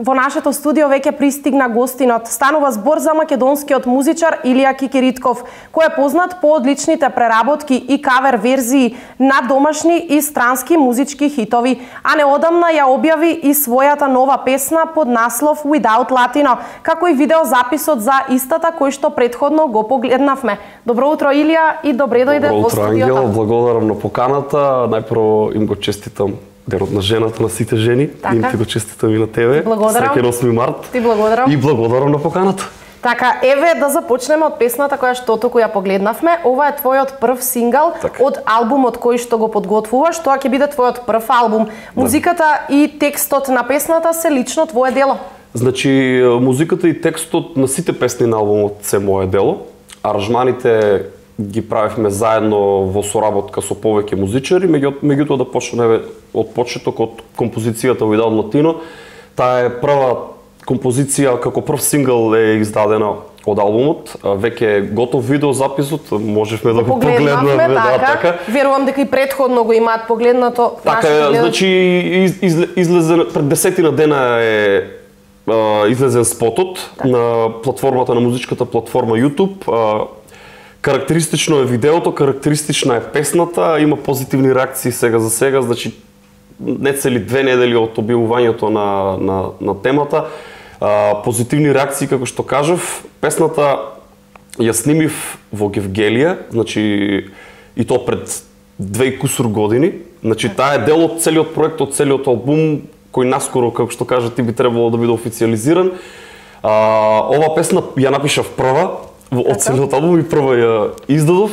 во нашето студио веќе пристигна гостинот. Станува збор за македонскиот музичар Илија Кикиритков, кој е познат по одличните преработки и кавер верзии на домашни и странски музички хитови, а неодамна ја објави и својата нова песна под наслов Without Latino, како и видеозаписот за истата кој што претходно го погледнавме. Добро утро, Илија, и добре дојде во студиото. Добро утро, Ангел, благодарам на поканата. Најпрво им го честитам Денот на жената на сите жени. Така. Им ти го честитам и на тебе. Благодарам. Среќен 8 март. Ти благодарам. И благодарам на поканата. Така, еве да започнеме од песната која што току ја погледнавме. Ова е твојот прв сингл од албумот кој што го подготвуваш. Тоа ќе биде твојот прв албум. Музиката и текстот на песната се лично твое дело. Значи, музиката и текстот на сите песни на албумот се мое дело. Аранжманите ги правевме заедно во соработка со повеќе музичари, меѓутоа да почнеме од почеток од композицијата Without Latino. Таа е прва композиција, како прв сингл е издадена од албумот. Веќе е готов видеозаписот, можевме да го погледнеме. Така. Верувам дека и претходно го имаат погледнато. Така, значи излезе пред 10 дена е излезен спотот на платформата, на музичката платформа YouTube. Карактеристично е видеото, карактеристична е песната, има позитивни реакции сега за сега, значи не цели 2 недели од објавувањето на темата. Позитивни реакции, како што кажав. Песната ја снимив во Гевгелија, значи и то пред 2 и кусур години. Значи таа е дел од целиот проект, од целиот албум, кој наскоро, како што кажа ти, би требало да биде официализиран. Ова песна ја напишав прва од целиот албум и прва ја издадов.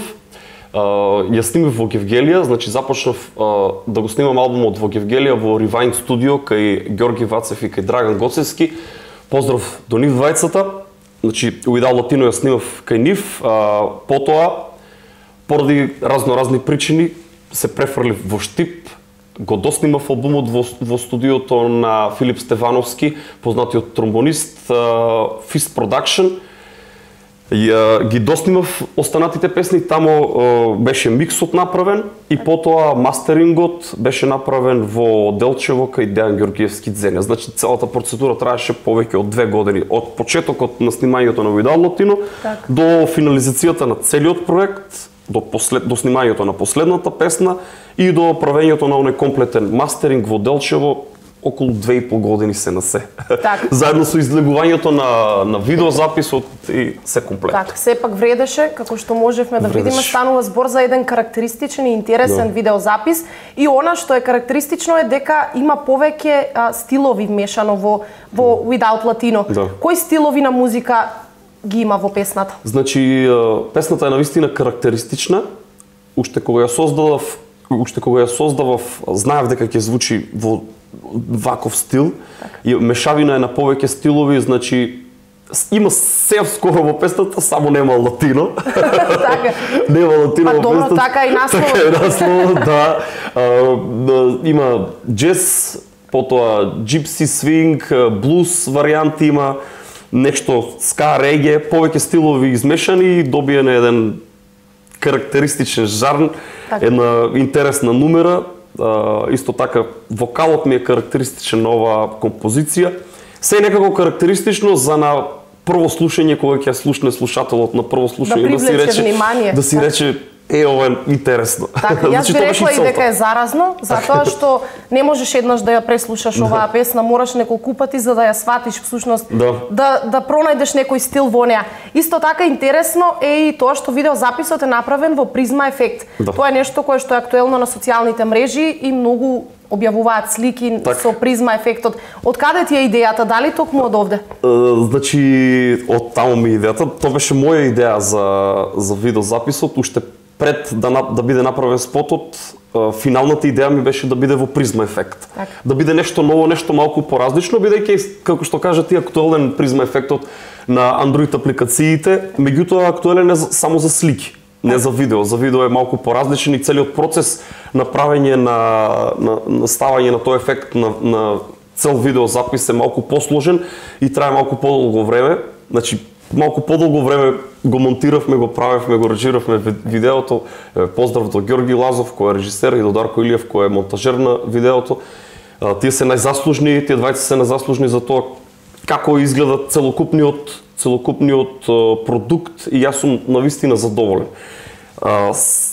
Ја снимив во Гевгелија, значи започнав да го снимам албумот во Гевгелија во Rewind студио кај Ѓорги Вацев и кај Драган Гоцевски. Поздрав до нив двајцата. Значи Without Latino ја снимав кај нив, потоа поради разни причини се префрлив во Штип. Го доснимав албумот во студиото на Филип Стевановски, познатиот тромбонист, Fist Production. Ги доснимав останатите песни, тамо беше миксот направен и потоа мастерингот беше направен во Делчево кај Дејан Ѓоргиевски Дзеня. Значи целата процедура траеше повеќе од 2 години, од почетокот на снимањето на Without Latino до финализацијата на целиот проект, до снимањето на последната песна и до правењето на оној комплетен мастеринг во Делчево. Околу 2,5 години се на се. Заедно со излегувањето на видеозаписот и се комплет. Сепак вредеше, како што можевме да видиме, станува збор за еден карактеристичен и интересен видеозапис. И она што е карактеристично е дека има повеќе стилови вмешано во Without Latino. Кои стилови на музика ги има во песната? Значи, песната е навистина карактеристична. Уште кога ја создавав, знаев дека ќе звучи во ваков стил. И мешавина е на повеќе стилови, значи има се скоро во песната, само нема латино. Нема латино во песната. Така и наслов. Така и наслов, да. Има джез, потоа джипси, свинг, блуз варијанти има, нешто ска, реге, повеќе стилови измешани и добиен еден карактеристичен жарн, една интересна нумера. Исто така, вокалот ми е карактеристичен на оваа композиција. Се е некако карактеристично за на прво слушање, кога ќе слушне слушателот на прво слушање, да си рече ова е интересно. Така, јас би рекла и дека е заразно, затоа што не можеш еднаш да ја преслушаш оваа песна, мораш неколку пати за да ја сватиш всушност, да пронајдеш некој стил во неа. Исто така интересно е и тоа што видеозаписот е направен во призма ефект. Тоа е нешто кое што е актуелно на социјалните мрежи и многу објавуваат слики со призма ефектот. Од каде ти е идејата? Дали токму од овде? Значи, од таму ми идејата. Тоа беше моја идеја за видеозаписот, уште пред да биде направен спотот. Финалната идеја ми беше да биде во призма ефект. Да биде нешто ново, нешто малку поразлично, бидејќи, како што кажа ти, актуелен призма ефектот на Android апликациите, меѓутоа актуелен е само за слики, не за видео. За видео е малку поразличен и целиот процес на правење на ставање на тој ефект на цел видеозапис е малку посложен и трае малку подолго време. Значи, малку подолго време го монтиравме, го правевме, го режиравме видеото. Поздрав до Ѓорги Лазов, кој е режисер, и до Дарко Илиев, кој е монтажер на видеото. Тие се најзаслужни, тие двајца се најзаслужни за тоа како изгледа целокупниот продукт и јас сум навистина задоволен.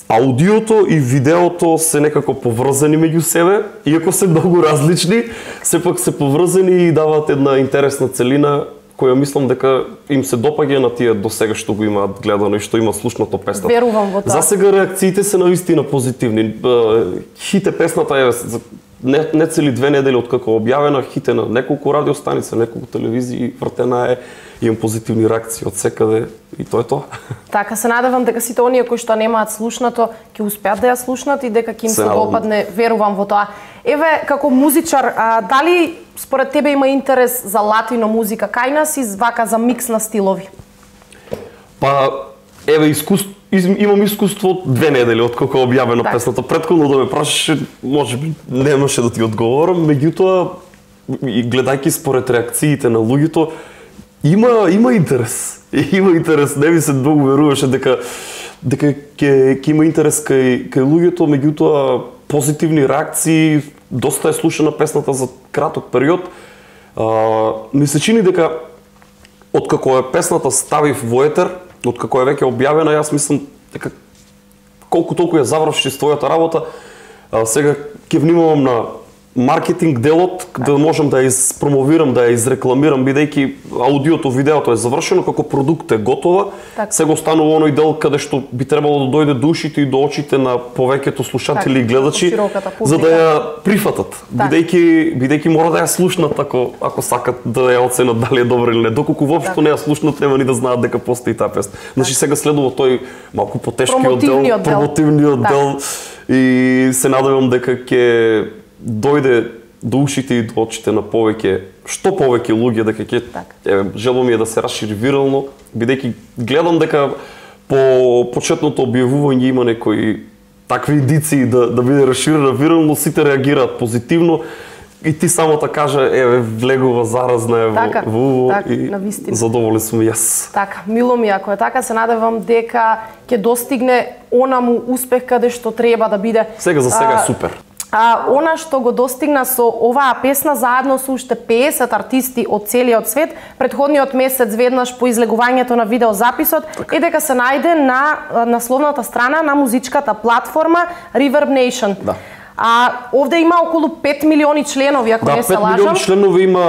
Аудиото и видеото се некако поврзани меѓу себе, иако се многу различни, сепак се поврзани и даваат една интересна целина која мислам дека им се допаѓа на тие до сега што го имаат гледано и што имаат слушнато песната. Верувам во тоа. За сега реакциите се навистина позитивни. Хите песната е не цели 2 недели откако објавена, хите на неколку радиостаници, неколку телевизии, вртена е, имам позитивни реакции од секаде и тоа е тоа. Така, се надевам дека сите оние кои што немаат слушнато ќе успеат да ја слушнат и дека ќе им се допадне, верувам во тоа. Еве, како музичар, дали според тебе има интерес за латино музика кај нас и вака за микс на стилови? Па, еве, имам искуство 2 недели откако објавена песната. Претходно да ме прашаше, можеби немаше да ти одговорам, меѓутоа и гледајќи според реакциите на луѓето, има интерес. Има интерес, не ми се многу веруваше дека ќе има интерес кај луѓето, меѓутоа позитивни реакции, доста е слушана песната за краток период. Ми се чини дека откако е песната ставив во етер, откако е веќе објавена, јас мислам дека колку толку ја заврши својата работа, сега ќе внимавам на маркетинг делот, да можам да ја испромовирам, да ја изрекламирам, бидејќи аудиото, видеото е завршено, како продукт е готова, сега останува оној дел каде што би требало да дојде до ушите и до очите на повеќето слушатели и гледачи, за да ја прифатат, бидејќи мора да ја слушнат ако сакат да ја оценат дали е добра или не, доколку воопшто не ја слушнат, нема ни да знаат дека постои таа песна. Значи сега следува тој малку потешкиот дел, промотивниот дел и се надевам дека ќе дојде до ушите и до очите на што повеќе луѓе, дека ќе желба ми е да се расшири вирално, бидејќи гледам дека по почетното објавување има некои такви индиции да биде расширена вирално, сите реагираат позитивно и ти самата кажа, влегува заразна во и задоволен сум јас. Така, мило ми ако е така, се надевам дека ќе достигне онаму успех каде што треба да биде. Сега за сега е супер. Она што го достигна со оваа песна заедно со уште 50 артисти од целиот свет, предходниот месец веднаш по излегувањето на видеозаписот е дека се најде на насловната страна на музичката платформа Reverb Nation. Овде има околу 5 милиони членови, ако не се лажам. 5 милиони членови има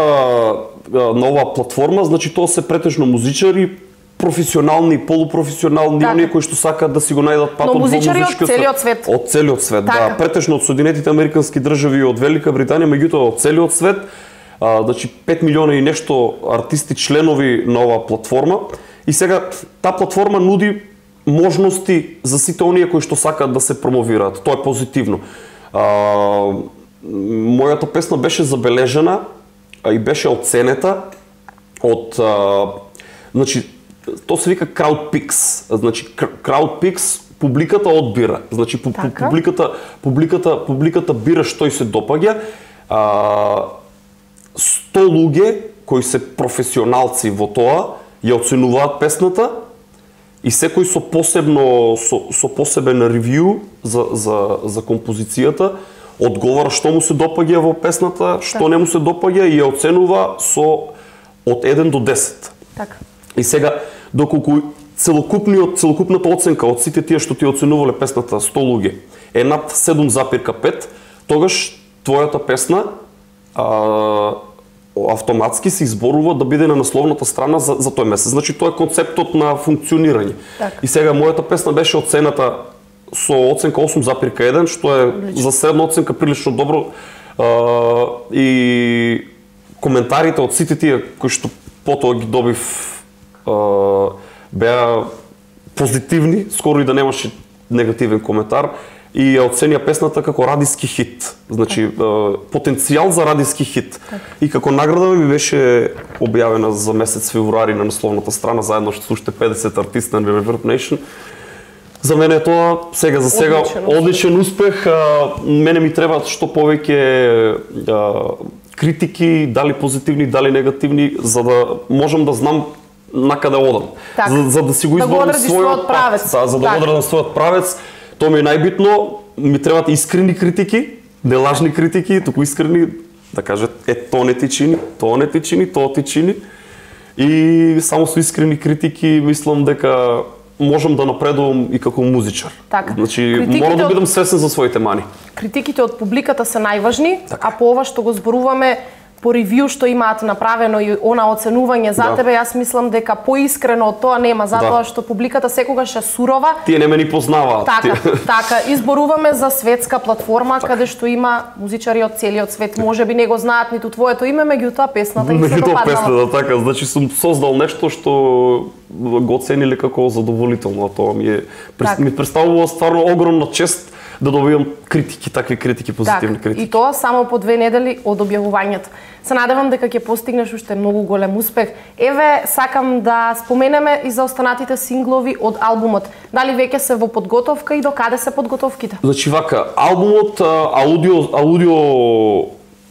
на оваа платформа, значи тоа се претежно музичари, професионални и полупрофесионални, оние кои што сакаат да си го најдат патот во музичката. од целиот свет. Од целиот свет, да. Претежно од Соединетите Американски држави и од Велика Британија, меѓутоа од целиот свет. Значи 5 милиона и нешто артисти членови на оваа платформа. И сега таа платформа нуди можности за сите оние кои што сакаат да се промовираат. Тоа е позитивно. Мојата песна беше забележана и беше оценета од значи тоа се вика Crowdpix. Значи Crowdpix публиката одбира. Значи публиката бира што ѝ се допаѓа. 100 луѓе кои се професионалци во тоа ја оценуваат песната и секој со посебен ревју за композицијата одговара што му се допаѓа во песната, што не му се допаѓа и ја оценува од 1 до 10. Така. И сега, доколку целокупната оценка од сите тие што ти оценувале песната 100 луѓе е над 7,5, тогаш твојата песна автоматски се изборува да биде на насловната страна за тој месец. Значи тоа е концептот на функционирање. И сега мојата песна беше оцената со оценка 8,1, што е за средна оценка прилично добро. И коментарите од сите тие кои што потоа ги добив беа позитивни, скоро и да немаше негативен коментар, и ја оценија песната како радиски хит. Значи, потенцијал за радиски хит. И како награда ми беше објавена за месец февруари на насловната страна, заедно што уште 50 артисти на Reverb Nation. За мене е тоа за сега одличен успех. Мене ми требаат што повеќе критики, дали позитивни, дали негативни, за да можам да знам накаде одам. За да си го изборам својот правец. За да одредам својот правец. Тоа ми е најбитно. Ми требаат искрени критики, не лажни критики, туку искрени, да каже тоа не ти чини, тоа не ти чини, тоа ти чини. И само со искрени критики мислам дека можам да напредувам и како музичар. Така. Значи, мора да бидам свесен за своите мани. Критиките од публиката се најважни, така. А по ова што го зборуваме, по ревју што имаат направено и она оценување за тебе, јас мислам дека поискрено од тоа нема, затоа што публиката секогаш е сурова. Тие не ме ни познаваат. Така, изборуваме за светска платформа каде што има музичари од целиот свет. Можеби не го знаат ниту твоето име, меѓутоа песната им се допаднала. Песната, така, значи сум создал нешто што го оцениле како задоволително, тоа ми представува стварно огромна чест да добивам критики, такви критики, позитивни критики. И тоа само по 2 недели од објавувањето. Се надевам дека ќе постигнеш уште многу голем успех. Еве, сакам да споменеме и за останатите синглови од албумот. Дали веќе се во подготовка и до каде се подготовките? Значи вака, албумот, аудио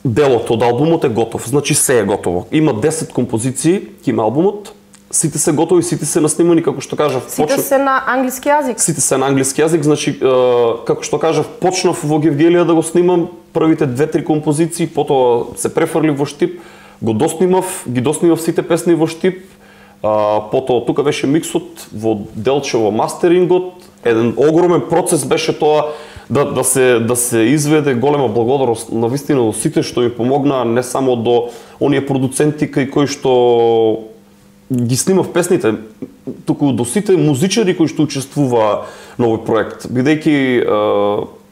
делот од албумот е готов. Значи се е готово. Има 10 композиции, има албумот. Сите се готови, сите се наснимани, како што кажав. Сите се на англиски јазик? Сите се на англиски јазик, значи, како што кажав, почнав во Гевгелија да го снимам првите 2-3 композиции, потоа се префрлив во Штип, ги доснимав сите песни во Штип, потоа тука беше миксот, во Делчево мастерингот, еден огромен процес беше тоа да се изведе. Голема благодарност на вистина до сите што ми помогнаа, не само до оние продуценти кои што ги снимав песните, туку до сите музичари кои што учествуваа на овој проект, бидејќи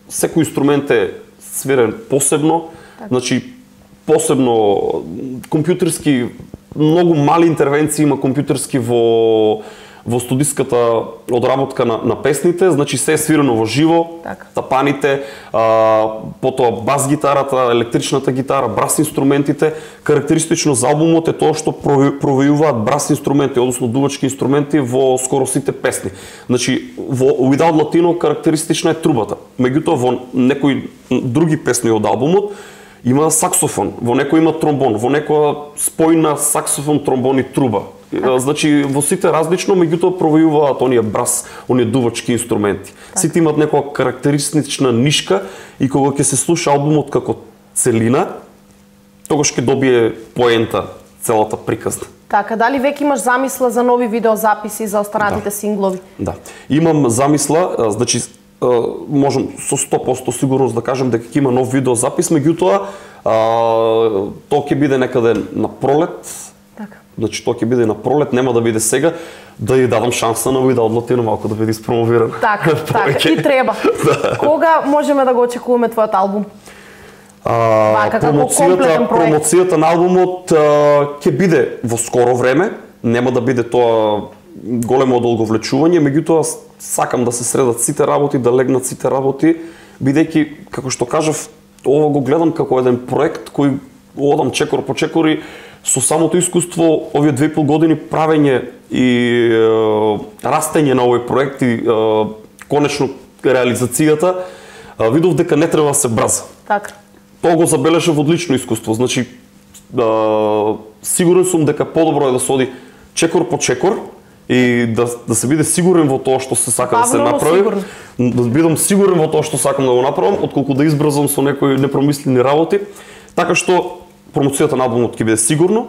секој инструмент е свирен посебно, значи посебно компјутерски, многу мали интервенции има компјутерски во студиската одработка на песните, значи се е свирено во живо, тапаните, потоа бас гитарата, електричната гитара, брас инструментите. Карактеристично за албумот е тоа што провејуваат брас инструменти, односно дувачки инструменти во скоро сите песни. Значи во Without Latino карактеристична е трубата. Меѓутоа во некои други песни од албумот има саксофон, во некој има тромбон, во некоја спојна саксофон, тромбон и труба. Значи во сите различно, меѓутоа провејуваат оние брас, оние дувачки инструменти. Сите имаат некоја карактеристична нишка и кога ќе се слуша албумот како целина, тогаш ќе добие поента целата приказна. Така, дали веќе имаш замисла за нови видеозаписи за останатите синглови? Да. Имам замисла, значи можам со 100% сигурност да кажам дека ќе има нов видеозапис, меѓутоа тоа ќе биде некаде на пролет. Така. Значи тоа ќе биде на пролет, нема да биде сега, да ја дадам шанса на Without Latino малку да биде испромовиран. Така, и треба. Кога можеме да го очекуваме твојот албум? Промоцијата на албумот ќе биде во скоро време, нема да биде тоа големо одолговлечување, меѓутоа сакам да се средат сите работи, да легнат сите работи, бидејќи, како што кажав, ова го гледам како еден проект кој одам чекор по чекори, со самото искуство овие 2,5 години правење и растење на овој проект и конечно реализацијата, видов дека не треба да се браза. Така. Тоа го забележав одлично искуство, значи сигурен сум дека подобро е да се оди чекор по чекор и да се биде сигурен во тоа што се сака да се направи. Да бидам сигурен во тоа што сакам да го направам, отколку да избрзам со некои непромислени работи. Така што промоцијата на албумот ќе биде сигурно.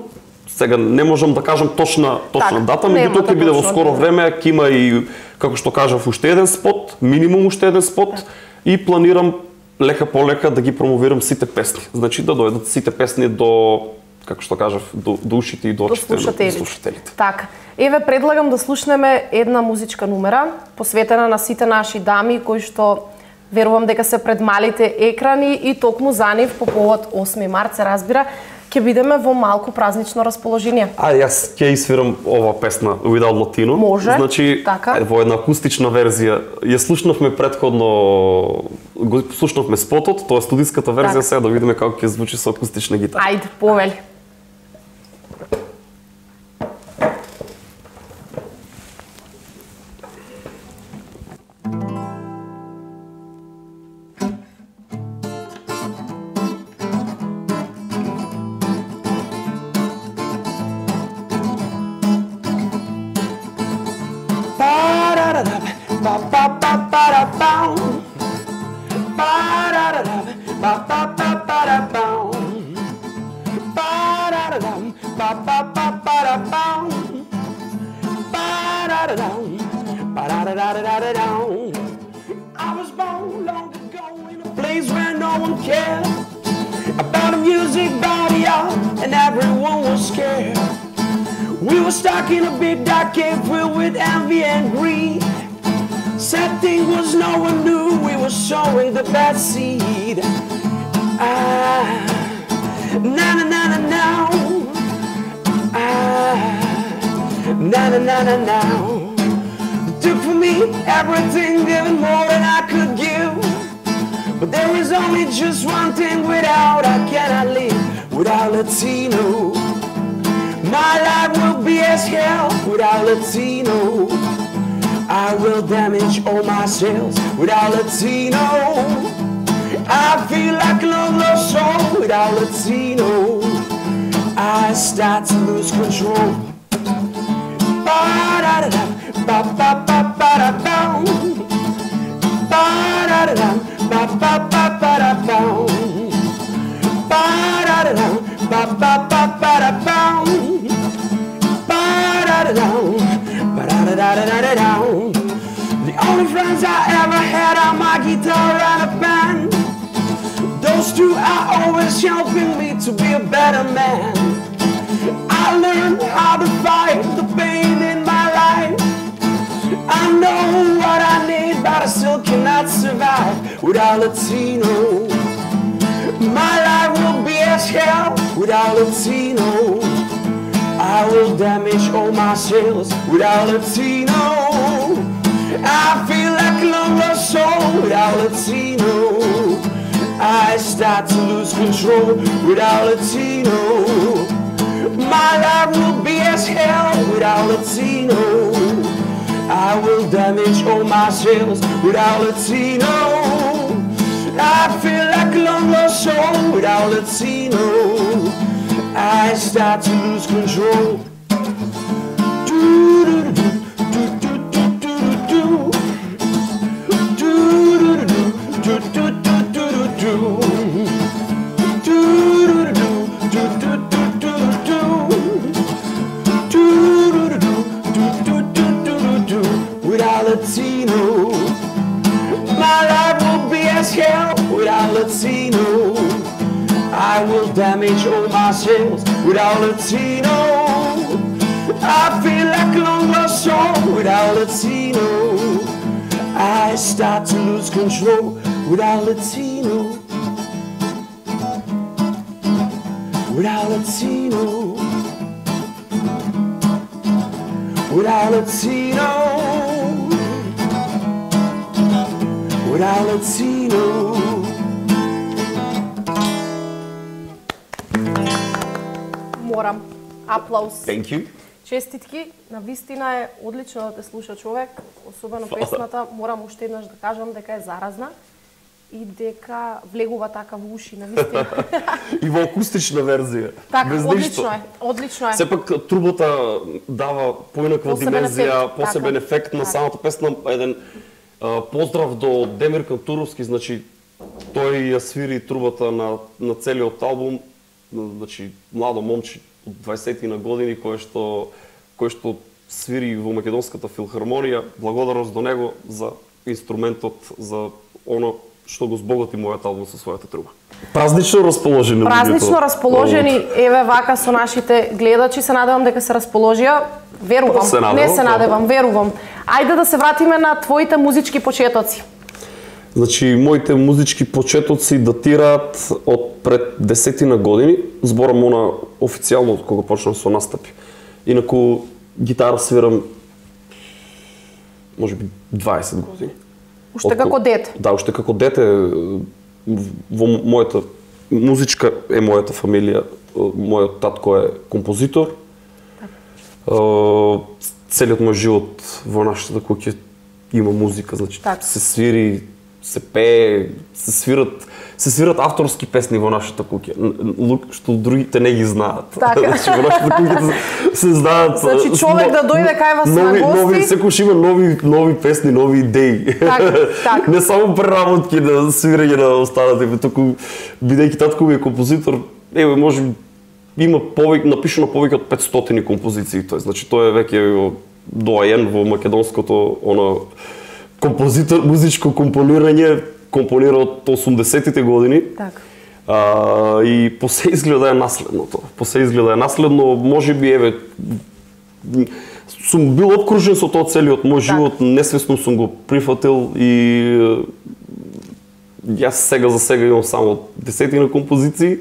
Сега не можам да кажам точна дата, меѓутоа ќе биде во скоро време, ќе има и, како што кажав, уште еден спот, минимум уште еден спот, и планирам лека по лека да ги промовирам сите песни. Значи да дојдат сите песни до, како што кажав, до ушите и до очите на слушателите. Така. Еве, предлагам да слушнеме една музичка numera, посветена на сите наши дами кои што верувам дека се пред малите екрани и токму за нив по повод 8 март се разбира, ќе бидеме во малку празнично расположение. Јас ќе свирам ова песна Without Latino. Може, значи, така. Во една акустична верзија. Ја слушнавме претходно, го слушнавме спотот, тоа е студиската верзија, сега да видиме како ќе звучи со акустична гитара. Ајде, повели. I was born long ago in a place where no one cared about the music, about the art, and everyone was scared. We were stuck in a big dark cave filled with envy and greed. Sad thing was no one knew we were sowing the bad seed. Na na na na now. Na na na na now. Took for me everything, giving more than I could give. But there is only just one thing without I cannot live. Without Latino, my life will be as hell. Without Latino, I will damage all my cells. Without Latino, I feel like a long lost soul. Without Latino, I start to lose control. Ba-da-da-da, ba-ba-ba-ba-da-bow. Ba-da-da-da, ba-ba-ba-ba-da-bow. Ba-da-da-da, ba-ba-ba-ba-da-bow. Ba-da-da-da, ba-da-da-da-da-da-da. The only friends I ever had are my guitar and a band. Those two are always helping me to be a better man. I learned how to fight the pain in my life. I know what I need, but I still cannot survive without Latino. My life will be as hell without Latino. I will damage all my cells without Latino. I feel like a long lost soul without Latino. I start to lose control without Latino. My life will be as hell without Latino. I will damage all my cells without Latino. I feel like a long lost soul without Latino. I start to lose control. Without Latino, my life will be as hell. Without Latino, I will damage all my cells. Without Latino, I feel like a long lost soul. Without Latino, I start to lose control. Without Latino, without Latino, without Latino, without Latino. Морам. Аплауз. Thank you. Честитки, навистина е одлично да те слуша човек, особено песната, морам уште еднаш да кажам дека е заразна и дека влегува така во уши, навистина. И во акустична верзија. Така, без одлично ништо. е, одлично е. Сепак трубата дава поинаква димензија, посебен така. ефект на самата песна. Еден поздрав до Демир Кантуровски, значи тој ја свири трубата на целиот албум, значи младо момче од 20 на години кој што свири во Македонската филхармонија. Благодарност до него за инструментот, за оно што го збогати мојот албум со својата труба. Празнично расположени. Празнично расположени, еве вака со нашите гледачи, се надевам дека се расположија. Верувам, не се надевам, верувам. Ајде да се вратиме на твоите музички почетоци. Значи, моите музички почетоци датираат од пред 10 на години. Зборам она официјално кога почнав со настапи. Инаку гитара свирам можеби 20 години. Уште како дете? Да, уште како дете. Во мојата музичка е мојата фамилија. Мојот татко е композитор. Целиот мој живот во нашата куќа има музика, значи се свири, се пее, се свират авторски песни во нашата куќа, што другите не ги знаат. Така. Значи во нашата куќа се знаат. Значи човек да дојде кај вас на гости, секој има нови песни, нови идеи. Так. Не само преработки на свирење на останатите, туку бидејќи татко ми е композитор, може има напишано повеќе од 500 композиции, значи тоа е веќе доаен во македонското композитор, музичко компонирање, компонира од 80-тите години. Така. И посе изгледа е наследното. Можеби сум бил обкружен со тоа целиот мој живот, несвесно сум го прифатил и јас сега за сега имам само 10 композиции.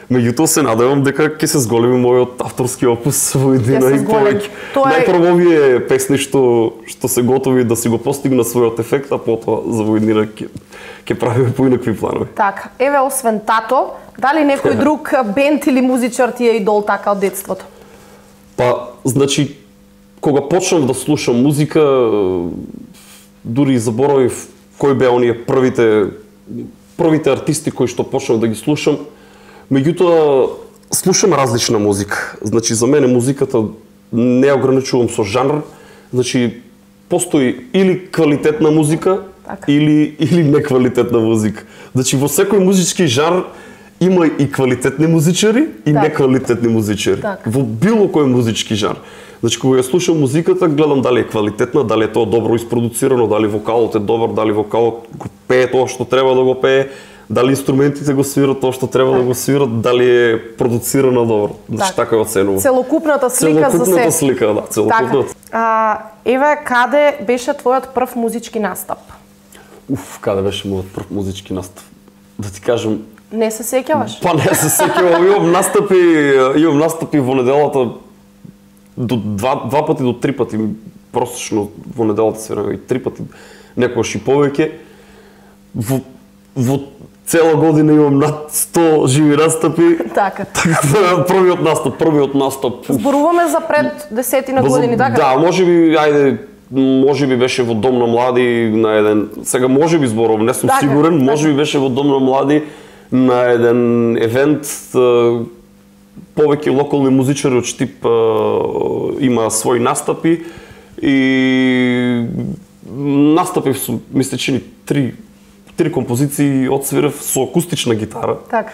Меѓутоа се надевам дека ќе се зголеми мојот авторски опус во едина и повеќе. Најпрво овие песни што се готови да си го постигнат својот ефект, а потоа за во еднина ќе правиме поинакви планови. Така, еве освен тато, дали некој друг бенд или музичар ти е идол така од детството? Па, значи, кога почнав да слушам музика, дури и заборавив кои беа оние првите артисти кои што почнав да ги слушам. Меѓутоа, слушам различна музика. Значи, за мене музиката не ја ограничувам со жанр. Значи, постои или квалитетна музика, или неквалитетна музика. Значи, во секој музички жанр има и квалитетни музичари и неквалитетни музичари. Во било кој музички жанр. Значи, кога ја слушам музиката, гледам дали е квалитетна, дали е тоа добро испродуцирано, дали вокалот е добар, дали вокалот го пее тоа што треба да го пее, дали инструментите го свират тоа што треба да го свират, дали е продуцирано добро. Значи, така ја оценувам. Целокупната слика за се. Целокупната слика, да, целокупната. Еве, каде беше твојот прв музички настап? Каде беше мојот прв музички настап? Да ти кажам... Не се сеќаваш? Па не се сеќавам, имам настапи во неделата два пати до 3 пати, просечно во неделата свирам и 3 пати, некогаш и повеќе. Во цела година имам над 100 живи настапи. Така. Првиот настап. Зборуваме за пред 10 години, така? Да, можеби беше во Дом на млади на еден, сега можеби зборувам, не сум сигурен, можеби беше во Дом на млади на еден евент. Повеќе локални музичари од Штип има своји настапи и настапив со, мисля, чини три композиции одсвирав со акустична гитара. Така.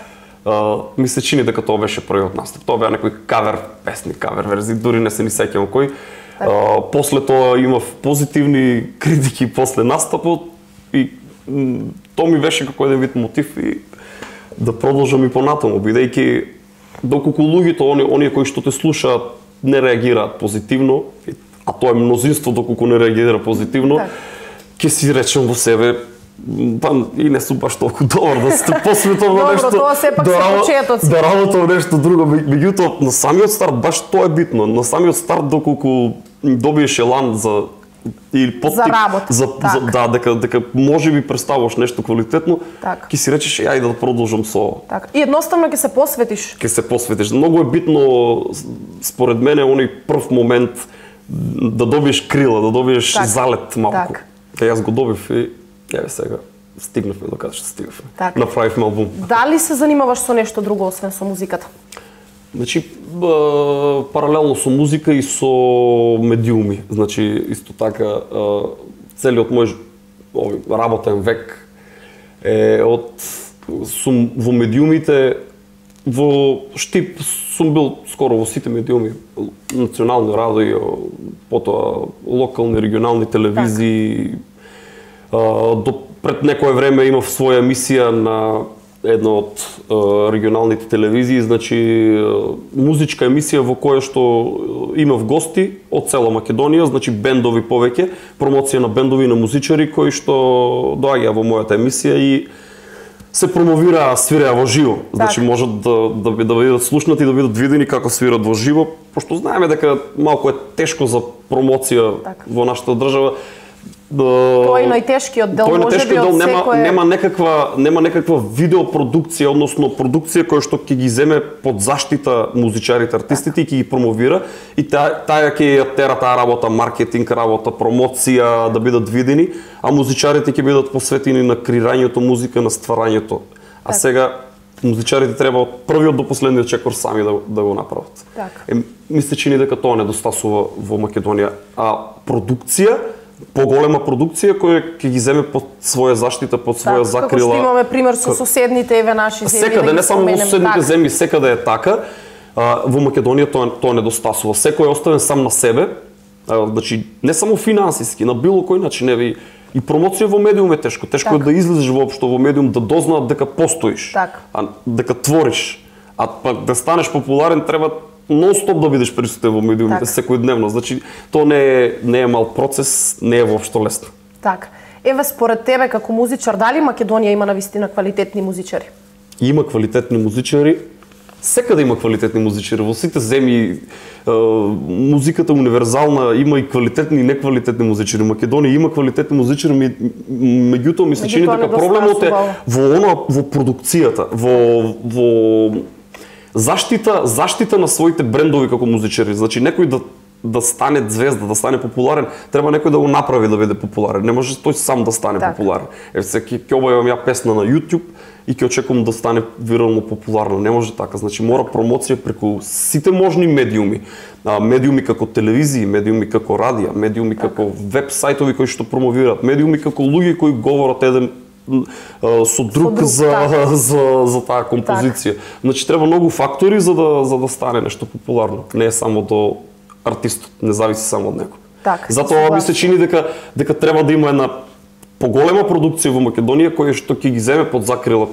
Мисля, чини дека тоа беше првиот настап. Тоа беа некои кавер песни, кавер верзии, дури не се ни сеќавам кој. После тоа имав позитивни критики после настапот и тоа ми беше како еден вид мотив и да продолжам и понатаму, бидејќи доколку луѓето, оние кои што те слушаат, не реагираат позитивно, а тоа е мнозинство доколку не реагира позитивно, ќе си речем во себе, и не сум баш толку добар да се посветам на нешто. Добро, тоа сепак се почетоци. Да работам нешто друго, меѓутоа на самиот старт баш тоа е битно. На самиот старт доколку добиеш елан за или за работа. Дека можеби представуваш нешто квалитетно, ќе си речеш ајде да продолжам со. Така. И едноставно ќе се посветиш. Ќе се посветиш. Многу е битно според мене оној прв момент да добиеш крила, да добиеш залет малку. Јас го добив и еве сега стигнавме до каде што стигнавме. Направивме албум. Дали се занимаваш со нешто друго освен со музиката? Значи, паралелно со музика и со медиуми. Значи, исто така, целиот мој работен век е сум во медиумите, во Штип сум бил скоро во сите медиуми, национални радио, потоа локални, регионални телевизии. Пред некое време имав своја емисија на една од регионалните телевизии, значи музичка емисија во која што имав гости од цела Македонија, значи бендови повеќе, промоција на бендови на музичари кои што доаѓаа во мојата емисија и се промовираа, свираа во живо. Значи можат да бидат слушнати, да бидат видени како свират во живо, пошто знаеме дека малку е тешко за промоција во нашата држава. Тоа е најтешкиот дел, можеби од секој... Нема некаква видеопродукција, односно продукција која што ќе ги земе под заштита музичарите, артистите и ќе ги промовира и таа ќе ја тера таа работа, маркетинг работа, промоција, да бидат видени, а музичарите ќе бидат посветени на креирањето музика, на стварањето. А сега музичарите треба од првиот до последниот чекор сами да го направат. Мисля, чини дека тоа недостасува во Македонија, а продукција, поголема продукција која ќе ги земе под своја заштита, под своја закрила. Како што имаме пример со соседните еве наши земји. Секаде, не само во соседните земји, секаде е така. Во Македонија тоа недостасува. Секој е оставен сам на себе Значи не само финансиски, на било кој начин, и промоција во медиум е тешко. Тешко е да излезеш воопшто во медиум, да дознаат дека постоиш, дека твориш. А пак да станеш популарен треба нон-стоп да бидеш присутен во медиумите секојдневно. Значи тоа не е мал процес, не е воопшто лесно. Така. Еве според тебе како музичар, дали Македонија има навистина квалитетни музичари? Има квалитетни музичари. Секаде има квалитетни музичари. Во сите земји музиката е универзална, има и квалитетни и неквалитетни музичари. Македонија има квалитетни музичари, меѓутоа ми се чини дека проблемот е во продукцијата, во заштита на своите брендови како музичари. Значи некој да стане звезда, да стане популарен, треба некој да го направи да биде популарен. Не може тој сам да стане популарен. Ќе објавам ја песна на YouTube и ќе очекувам да стане вирално популарна. Не може така. Значи мора промоција преку сите можни медиуми. Медиуми како телевизии, медиуми како радија, медиуми како веб сајтови кои што промовираат, медиуми како луѓе кои говорат еден со друг за таа композиција. Значи треба многу фактори за да стане нешто популарно. Не е само до артистот, не зависи само од него. Затоа ми се чини дека треба да има една поголема продукција во Македонија која што ќе ги земе под закрила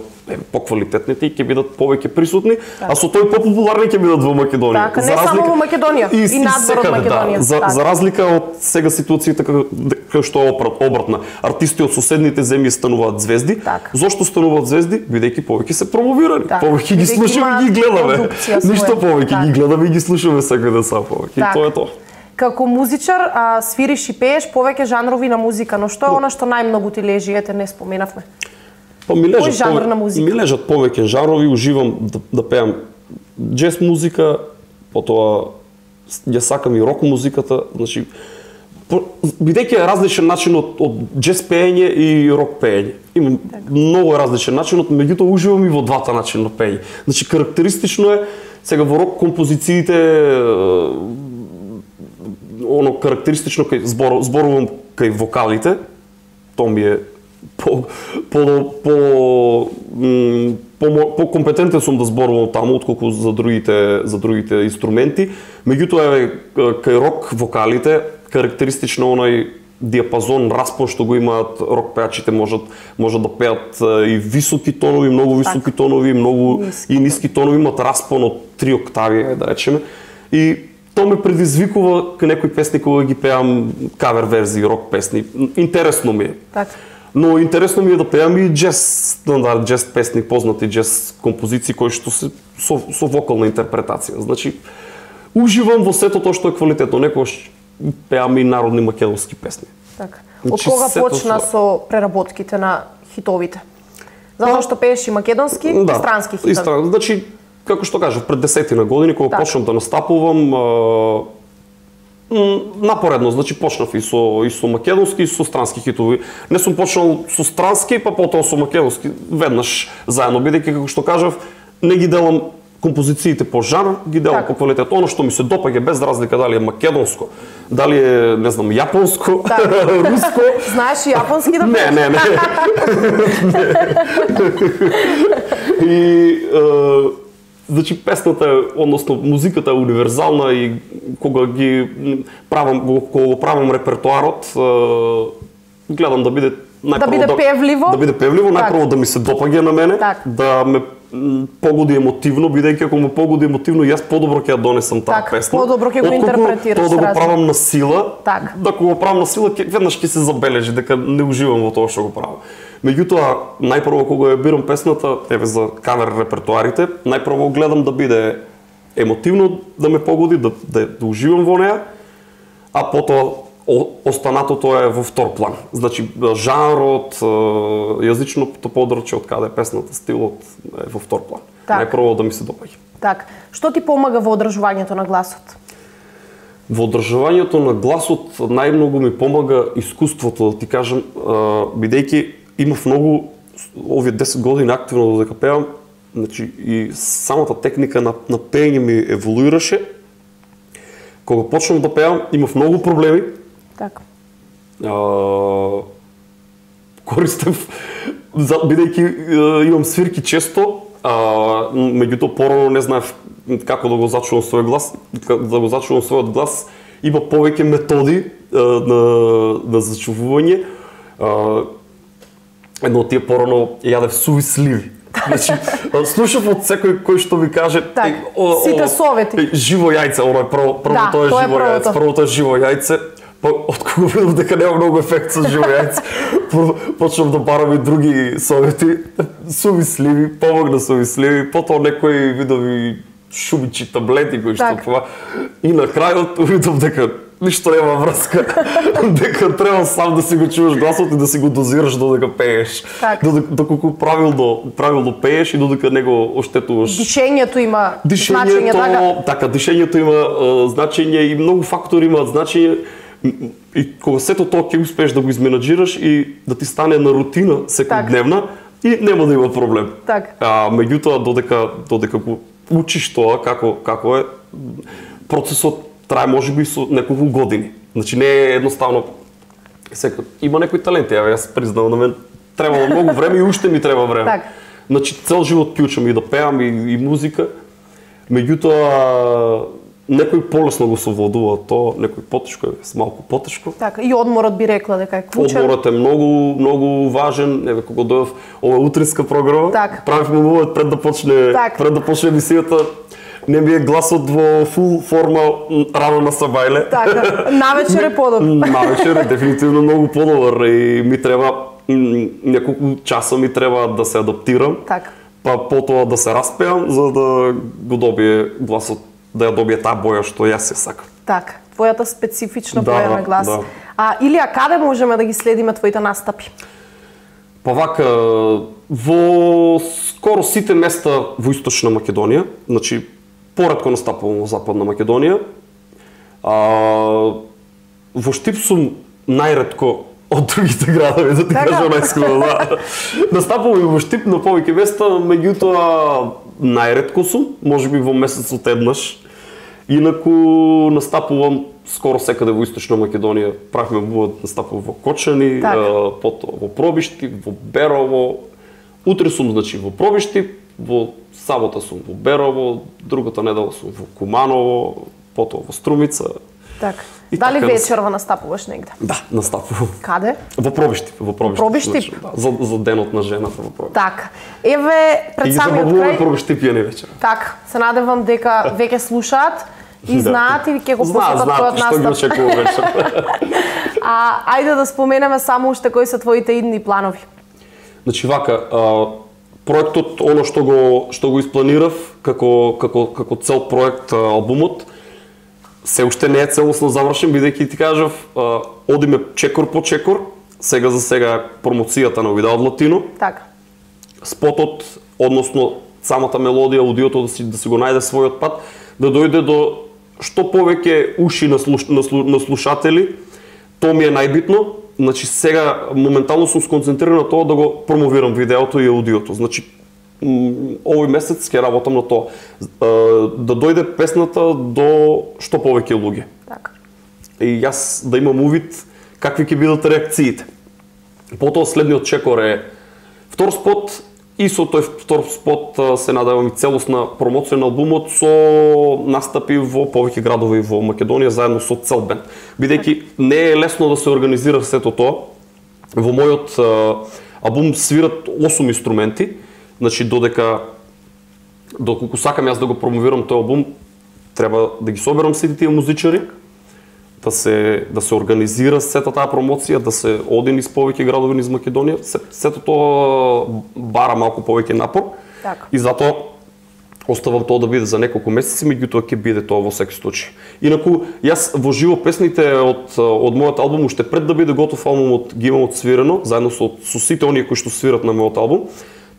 поквалитетните и ќе бидат повеќе присутни, а со тој популарни ќе бидат во Македонија. Така, не само во Македонија, и надвор од Македонија. За разлика од сега ситуацијата кај што е обратна. Артисти од соседните земји стануваат звезди. Зошто стануваат звезди? Бидејќи повеќе се промовирани, повеќе ги слушаме и ги гледаме. Ништо повеќе ги гледаме и ги слушаме секој сам повеќе. И тоа е тоа. Како музичар свириш и пееш повеќе жанрови на музика, но што е она што најмногу ти лежи, ете не споменавме? Кој жанр на музика? Ми лежат повеќе жанрови, уживам да пеам џез музика, потоа ја сакам и рок музиката, значи бидејќи е различен начин од џез пеење и рок пеење. Има многу различен начин, меѓутоа уживам и во двата начина на пеење. Значи карактеристично е сега во рок композициите оно карактеристично кај зборувам кај вокалите, тоа ми е по-компетентен сум да зборувам таму отколку за другите инструменти. Меѓутоа кај рок вокалите карактеристично оној диапазон, распон што го имаат рок пеачите, можат да пеат и високи тонови, многу високи тонови, многу и ниски тонови, имаат распон од 3 октави, да речеме. И тоа ме предизвикува кај некои песни кога ги пеам кавер верзии, рок песни. Интересно ми е. Но интересно ми е да пеам и џез песни, познати џез композиции кои што се со вокална интерпретација. Значи уживам во сето тоа што е квалитетно. Некогаш пеам и народни македонски песни. Од кога почна со преработките на хитовите? Затоа што пееш и македонски и странски хитови. Значи како што кажав, пред 10 години кога почнав да настапувам напоредно, значи почнав и со македонски и со странски хитови. Не сум почнал со странски, па потоа со македонски веднаш заедно, бидејќи како што кажав, не ги делам композициите по жанр, ги делам по квалитет. Оно што ми се допаѓа без разлика дали е македонско, дали е, не знам, јапонско, руско. Знаеш и јапонски да пееш? Не. И значи песната, односно музиката е универзална и кога го правам репертоарот, гледам да биде певливо. Да биде певливо, најпрво да ми се допаѓа на мене, да ме погоди емотивно, бидејќи ако ме погоди емотивно, јас подобро ќе ја донесам таа песна. Подобро ќе го интерпретираш. Тоа да го правам на сила, да го правам на сила, веднаш ќе се забележи дека не уживам во тоа што го правам. Меѓутоа, најпрво кога ја бирам песната, еве за кавер репертоарите, најпрво гледам да биде емотивно, да ме погоди, да уживам во неа, а потоа останатото е во втор план. Значи, жанрот, јазичното подрачје од каде песната, стилот е во втор план. Најпрво да ми се допаѓа. Так. Што ти помага во одржувањето на гласот? Во одржувањето на гласот најмногу ми помага искуството, да ти кажам, бидејќи имав многу овие 10 години активно додека пеам, значи и самата техника на пеење ми еволуираше. Кога почнав да пеам, имав многу проблеми. Така. Користев, бидејќи имам свирки често, меѓутоа порано не знаев како да го зачувам својот глас, има повеќе методи на зачувување. Едно од тие порано јадев суви сливи. Значи, слушав од секој кој што ми каже сите совети. Живо јајце, оно е првото е живо јајце, првото е живо јајце. Откога видов дека нема многу ефект со живо јајце, почнав да барам и други совети. Суви сливи, помогна суви сливи, потоа некои видови шумичи, таблети кои што това. И на крајот видов дека ништо нема врска, дека треба сам да си го чуваш гласот и да си го дозираш додека пееш. Доколку правилно пееш и додека не го оштетуваш. Дишењето има значење, така? Така, дишењето има значење и многу фактори имаат значење. И кога сето тоа ќе успееш да го изменаџираш и да ти стане на рутина секојдневна и нема да има проблем. Меѓутоа додека го учиш тоа како е, процесот трае можеби со неколку години. Значи не е едноставно. Има некои таленти, јас признавам, на мен требало многу време и уште ми треба време. Значи цел живот ќе учам и да пеам и музика. Меѓутоа некој полесно го совладува тоа, некој потешко е, малку потешко. Така, и одморот би рекла дека е клучен. Одморот е многу важен. Еве кога дојдов ова утринска програма, правивме увод пред да почне емисијата. Не ми е гласот во фул форма рано на сабајле. Така, навечер е подобар. Навечер е дефинитивно многу подобар и ми треба неколку часа ми треба да се адаптирам. Така. Па потоа да се распеам за да го добие гласот, да ја добие таа боја што јас се сакам. Така, твојата специфична боја на глас. Илија, каде можеме да ги следиме твоите настапи? Па вака, во скоро сите места во Источна Македонија, значи поретко настапувам во Западна Македонија. Во Штип сум најретко од другите градови, да ти кажам најскрено. Настапувам и во Штип на повеќе места, меѓутоа најретко сум, можеби во месецот еднаш. Инаку настапувам скоро секаде во Источна Македонија. Правиме настапувам во Кочани, потоа во Пробишти, во Берово. Утре сум значи во Пробишти, во сабота сум во Берово, другата недела сум во Куманово, потоа во Струмица. Така. Дали вечерва настапуваш негде? Да, настапувам. Каде? Во Пробишти. Во Пробишти? За денот на жената во Пробишти. Така. Еве пред самиот крај. И Пробишти пијани вечер. Така. Се надевам дека веќе слушаат и знаат и ќе го посетат твојот настап. Што ги очекува вечер. Ајде да споменеме само уште кои се твоите идни планови. Значи вака, проектот, оно што го испланирав како цел проект албумот, се уште не е целосно завршен, бидејќи ти кажав, одиме чекор по чекор, сега за сега промоцијата на Видео Латино. Така. Спотот, односно самата мелодија, аудиото да си го најде својот пат, да дојде до што повеќе уши на слушатели, тоа ми е најбитно. Значи сега моментално сум сконцентриран на тоа да го промовирам видеото и аудиото. Значи овој месец ќе работам на тоа. Да дојде песната до што повеќе луѓе. Така. И јас да имам увид какви ќе бидат реакциите. Потоа следниот чекор е втор спот и со тој втор спот се надевам и целосна промоција на албумот со настапи во повеќе градови во Македонија заедно со цел бенд. Бидејќи не е лесно да се организира сето тоа. Во мојот албум свират 8 инструменти. Значи доколку сакам јас да го промовирам тој албум, треба да ги соберам сите тие музичари, да се организира сета таа промоција, да се оди низ повеќе градови низ Македонија. Сето тоа бара малку повеќе напор. Так. И затоа оставам тоа да биде за неколку месеци, меѓутоа ќе биде тоа во секој случај. Инаку јас во живо песните од мојот албум уште пред да биде готов албумот ги имам отсвирено заедно со сите оние кои што свират на мојот албум.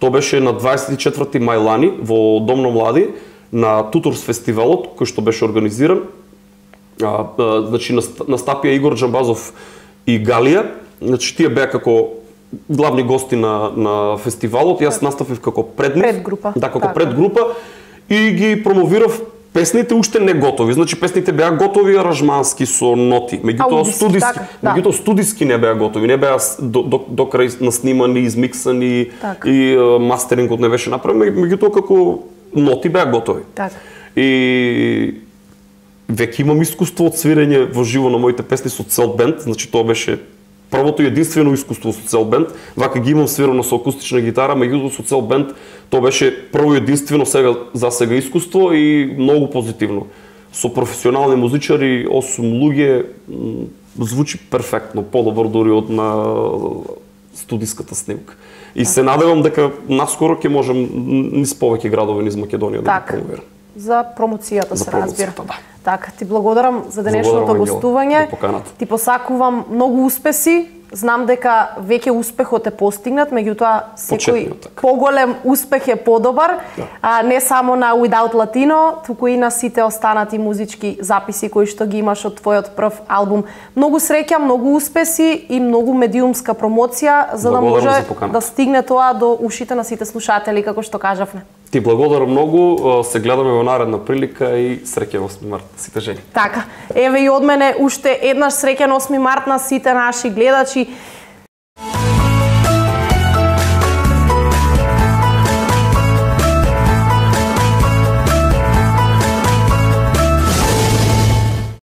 Тоа беше на 24 мај лани во Дом на млади на Туторс фестивалот кој што беше организиран. Значи настапија Игор Джамбазов и Галија. Значи тие беа како главни гости на фестивалот. Јас наставив како предгрупа. Да, како предгрупа и ги промовирав песните уште не готови. Значи песните беа готови аранжмански со ноти, меѓутоа студиски не беа готови, не беа до крај наснимани, измиксани и мастерингот не беше направен, меѓутоа како ноти беа готови. Так. И веќе имам искуство од свирење во живо на моите песни со цел бенд, значи тоа беше првото и единствено искуство со цел бенд. Вака ги имам свирено со акустична гитара, меѓутоа со цел бенд тоа беше прво и единствено за сега искуство и многу позитивно. Со професионални музичари, 8 луѓе, звучи перфектно, подобро дури од на студиската снимка. И се надевам дека наскоро ќе можем низ повеќе градови низ Македонија да ги промовирам. За промоцијата се разбира. Да. Така, ти благодарам за денешното гостување. Ти посакувам многу успеси. Знам дека веќе успехот е постигнат, меѓутоа секој поголем успех е подобар, не само на Without Latino, туку и на сите останати музички записи кои што ги имаш од твојот прв албум. Многу среќа, многу успеси и многу медиумска промоција за да може да стигне тоа до ушите на сите слушатели, како што кажавме. Ти благодарам многу, се гледаме во наредна прилика и среќен 8 март на сите жени. Така, еве и од мене уште еднаш среќен 8 март на сите наши гледачи.